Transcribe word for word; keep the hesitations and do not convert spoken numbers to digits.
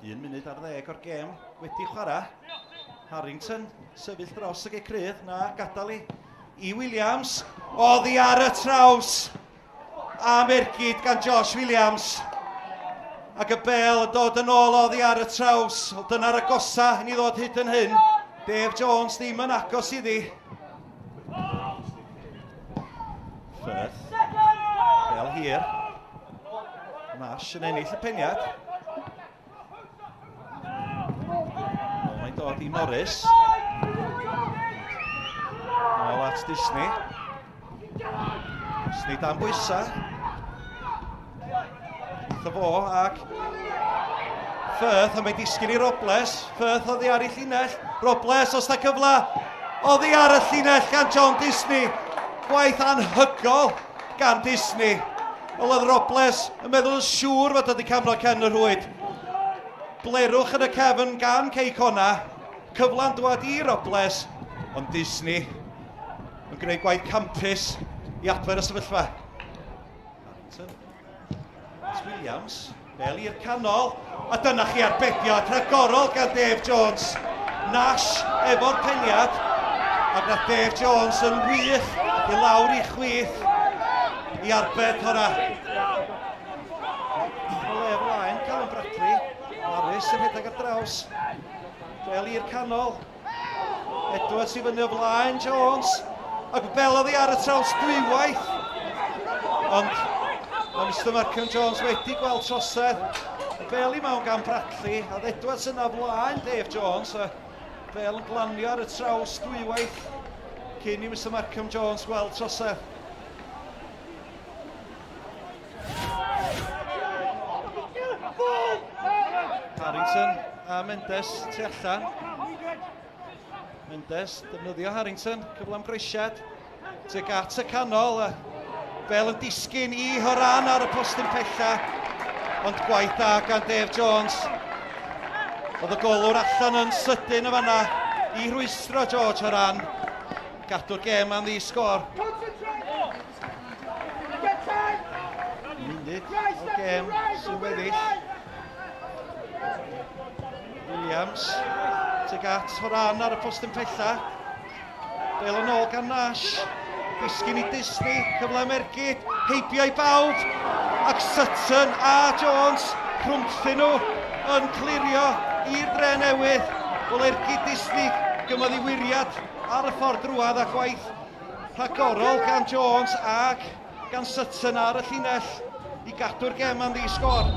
Un munud ar ddeg o'r gêm wedi chwarae. Harrington sefyll dros y gecrydd, na gadael i i Williams. Oddi ar y traws am ergyd gan Josh Williams. Ac y bel yn dod yn ôl oddi ar y traws. Dyna'r agosa i ni ddod hyd yn hyn. Dave Jones ddim yn agos iddi. Firth. Bel hir. Nash yn ennill y peniad. Mae'n dod i Morris. Nôl at Disney. Disney dan bwysa. Eitha fo ac Firth, a mae'n disgyn i Robles. Firth oddi ar ei llinell. Robles, os da cyfle, oddi ar y llinell gan John Disney. Gwaith anhygol gan Disney. Wel, oedd Robles yn meddwl yn siŵr fod wedi camro cefn y rhwyd. Blerwch yn y cefn gan Cei Connah. Cyfla'n dwad i Robles, ond Disney yn gwneud gwaith campus i adfer y sefyllfa. Harrington. Williams, bel i'r canol, a dyna chi arbediad rhagorol gan Dave Jones. Nash efo'r peniad, ac nath Dave Jones yn wych i lawr i chwith i arbed hwnna. O le flaen, Callum Bradley, Morris yn rhedeg ar draws, bel i'r canol, Edwards i fyny o flaen Jones, ac bel oddi ar y traws dwywaith, ond mae Mister Markham Jones wedi gweld trosedd. Bel i mewn gan Bradley, a Edwards yna flaen Dave Jones, a bel yn glanio ar y traws dwywaith cyn i Mister Markham Jones gweld trosedd. Harrington a Mendes tu allan. Mendes defnyddio Harrington, cyfle am groesiad tuag at y canol. A bel yn disgyn i Horan ar y postyn pella, ond gwaith da gan Dave Jones. Oedd y golwr allan yn sydyn y fanna i rwystro George Horan. Gadw'r gêm am ddi sgôr. Munud o'r gêm sy'n weddill. Williams tuag at Horan ar y postyn pella. Bel yn ôl gan Nash. Disgyn i Disney, cyfle am ergyd, heibio i bawb, ac Sutton a Jones rhwngthyn nhw yn clirio i'r dre newydd. Wel, ergyd Disney gymodd i wiriad ar y ffordd drwad a gwaith rhagorol gan Jones ac gan Sutton ar y llinell i gadw'r gem am ddi sgôr.